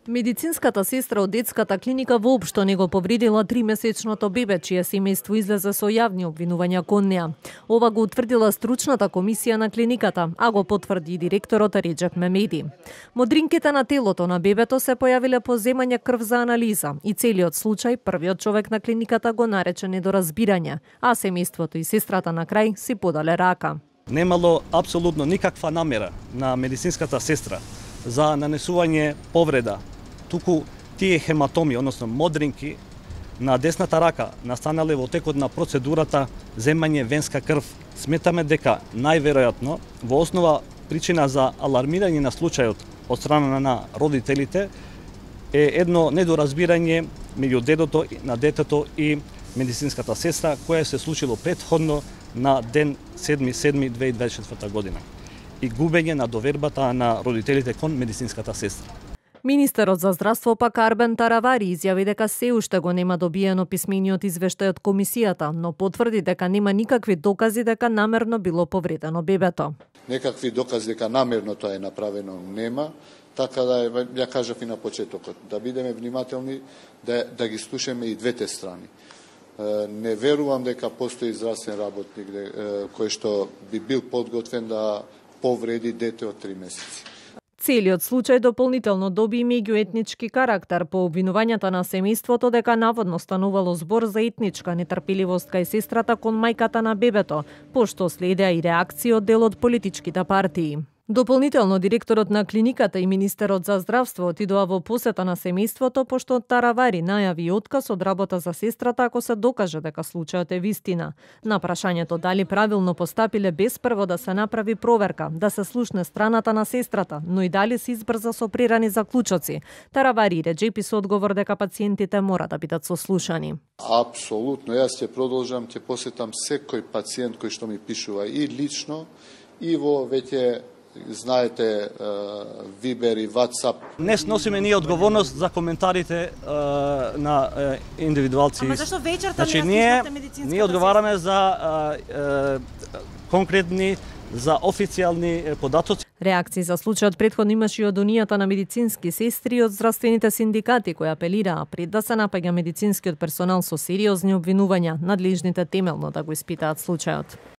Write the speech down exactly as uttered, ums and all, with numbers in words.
Медицинската сестра од детската клиника воопшто не го повредила тримесечното бебе, чие семејство излезе со јавни обвинувања кон неа. Ова го утврдила стручната комисија на клиниката, а го потврди и директорот Реджеп Мемеди. Модринките на телото на бебето се појавиле по земање крв за анализа и целиот случај првиот човек на клиниката го нарече недоразбирање, а семејството и сестрата на крај си подале рака. Немало апсолутно никаква намера на медицинската сестра за нанесување повреда, туку тие хематоми, односно модринки на десната рака настанале во текот на процедурата земање венска крв. Сметаме дека најверојатно во основа причина за алармирање на случајот од страна на родителите е едно недоразбирање меѓу дедото на детето и медицинската сестра, кое се случило претходно на ден седми седми две илјади и дваесет и четврта година и губење на довербата на родителите кон медицинската сестра. Министерот за здравство пак Арбен Таравари изјави дека се уште го нема добиено писмениот извештај од комисијата, но потврди дека нема никакви докази дека намерно било повредено бебето. Некакви докази дека намерно тоа е направено нема, така да ја кажав и на почетокот, да бидеме внимателни, да, да ги слушаме и двете страни. Не верувам дека постои здравствен работник кој што би бил подготвен да повреди дете од три месеци. Целиот случај дополнително доби меѓуетнички карактер по обвинувањата на семејството дека наводно станувало збор за етничка нетрпеливост кај сестрата кон мајката на бебето, пошто следеа и реакции од дел од политичките партии. Дополнително, директорот на клиниката и министерот за здравство отидоа во посета на семејството, пошто Таравари најави отказ од работа за сестрата ако се докаже дека случајот е вистина. На прашањето дали правилно постапиле без прво да се направи проверка, да се слушне страната на сестрата, но и дали се избрза со прерани заклучоци, Таравари и Реджепи со одговор дека пациентите мора да бидат сослушани. Апсолутно, јас ќе продолжам, ќе посетам секој пациент кој што ми пишува и лично, и во веќе знаете, Вибер и WhatsApp. Не сносиме ние одговорност за коментарите uh, на uh, индивидуалци. Ама зашто вечерта значи, не ние, медицинската ние одговараме за uh, uh, конкретни, за официјални податоци. Реакции за случајот претходно имаше и од Унијата на медицински сестри и од здравствените синдикати кои апелираа пред да се напаѓа медицинскиот персонал со сериозни обвинувања, надлежните темелно да го испитаат случајот.